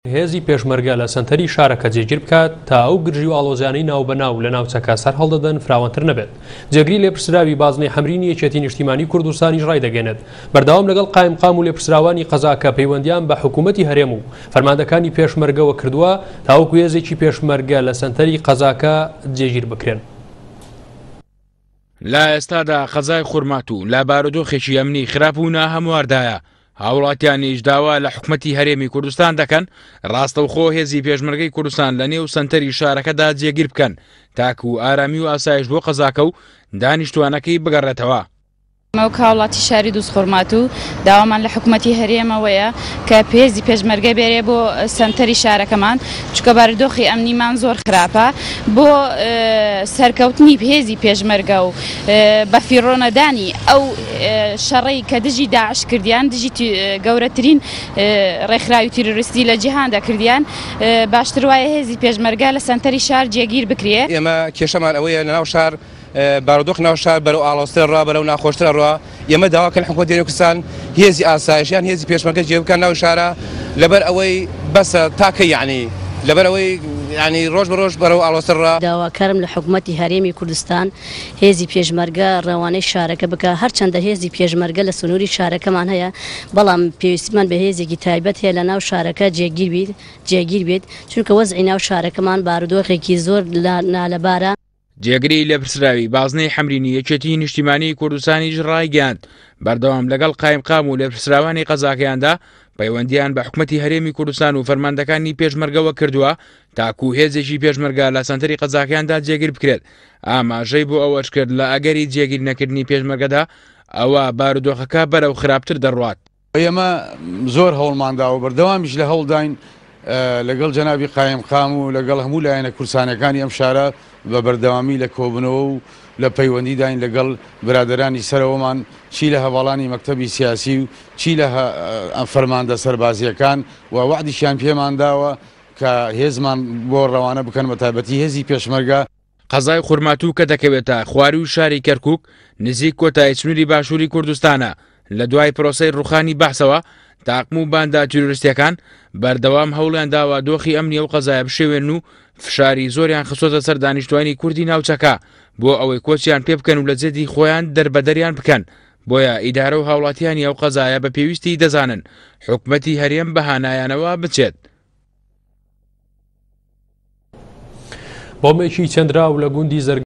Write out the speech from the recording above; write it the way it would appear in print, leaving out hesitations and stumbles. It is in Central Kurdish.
هێزی پێشمەرگە لە سەنتەری شارەکە جێگیر بکات تا ئەو گرژی و ئاڵۆزیانەی ناوبەناو لە ناوچەکە سەرهەڵدەدەن فراوانتر نەبێت. جێگری لێپرسراوی بازنەی حەمرینی یەکێتی نیشتیمانی کوردستانیش ڕایدەگەێنێت بەردەوام لەگەڵ قایمقام و لێپرسراوانی قەزاکە پەیوەندیان بە حکوومەتی هەرێم و فەرماندەکانی پێشمەرگەوە کردووە تاوەکو هێزێکی پێشمەرگە لە سەنتەری قەزاکە جێگیر بکرێن. لە ئێستادا قەزای خورماتوو لە بارودۆخێکی ئەمنی خراپ و ناهەمواردایە، هاوڵاتیانیش داوا لە حکومەتی هەرێمی کوردستان دەکەن ڕاستەوخۆ هێزی پێشمەرگەی کوردستان لە نێو سەنتەری شارەکەدا جێگیر بکەن تاکو ئارامی و ئاسایش بۆ قەزاکە و دانیشتوانەکەی بگەڕێتەوە. ئێمە وەک هاوڵاتی شاری دووزخورماتوو داوامان لە حکومەتی هەرێمەوەیە کە هێزی پێشمەرگە بێرێ بۆ سەنتەری شارەکەمان چونکە بارودۆخی ئەمنیمان زۆر خراپە بۆ سەرکەوتنی هێزی پێشمەرگە و بەفیڕۆنەدانی ئەو شەڕەی کە دژی داعش کردیان دژی گەورەترین ڕێکخراوی تیرۆریستی لە جیهاندا کردیان باشتر وایە هێزی پێشمەرگە لە سەنتەری شار جێگیر بکرێ. ئێمە کێشەمان ئەوەیە لەناو شار بارودۆخی ناو شار بەرەو ئاڵۆزتر ئەڕوا، بەرەو ناخۆشتر ئەڕوا، ئێمە داوا کەین حکومەتی هەرێمی کوردستان هێزی ئاسایش یان هێزی پێشمەرگە جێ بکەن ناو شارە لەبەر ئەوەی بەسە تا کەی یەعنی لەبەر ئەوەی یەعنی ڕۆژ بە ڕۆژ بەرەو ئاڵۆزتر ڕا. داواکارم لە حکومەتی هەرێمی کوردستان هێزی پێشمەرگە ڕەوانەی شارەکە بکا، هەرچەندە هێزی پێشمەرگە لە سنووری شارەکەمان هەیە، بەڵام پێویستیمان بە هێزێکی تایبەت هەیە لە ناو شارەکە جێگیر بیت جێگیر بێت، چونکە وەزعی ناو شارەکەمان بارودۆخێکی زۆر نالەبارە. جێگری لێپرسراوی بازنەی حەمرینی یەکێتیی نیشتیمانیی کوردستانیش ڕایگەیاند، بەردەوام لەگەڵ قایمقام و لێپرسراوانی قەزاکەیاندا پەیوەندییان بە حکومەتی هەرێمی کوردستان و فەرماندەکانی پێشمەرگەوە کردووە تاکو هێزێکی پێشمەرگە لە سەنتەری قەزاکەیاندا جێگیر بکرێت. ئاماژەی بۆ ئەوەش کرد، لە ئەگەری جێگیر نەکردنی پێشمەرگەدا ئەوا بارودۆخەکە بەرەو خراپتر دەڕوات. ئێمە زۆر هەوڵمان داوە و بەردەوامیش لە هەوڵداین لەگەڵ جەنابی قایمقام و لەگەڵ هەموو لایەنە کوردستانیەکانی ئەم شارە بە بەردەوامی لە کۆبوونەوە و لە پەیوەندیداین لەگەڵ برادەرانی سەرەوەمان چی لە هەڤاڵانی مەکتەبی سیاسی و چی لە فەرماندە سەربازییەکان و وەعدیشیان پێمان داوە کە هێزمان بۆ ڕەوانە بکەن بەتایبەتی هێزی پێشمەرگە. قەزای خورماتوو کە دەکەوێتە خوارووی شاری کەرکووک، نزیک کۆتایی سنووری باشووری کوردستانە، لە دوای پرۆسەی ڕووخانی بەعسەوە، تاقم و باندە تیرۆریستییەکان بەردەوام هەوڵیان داوە دۆخی ئەمنی ئەو قەزایە بشێوێنن و فشاری زۆریان خستۆتە سەر دانیشتوانی کوردی ناوچەکە بۆ ئەوەی کۆچیان پێ بکەن و لە زێدی خۆیان دەربەدەریان بکەن، بۆیە ئیدارە و هاوڵاتیانی ئەو قەزایە بە پێویستی دەزانن حکومەتی هەرێم بە هانایانەوە بچێت. بۆمبێکی چەندراو لە گوندی زەرگەتە.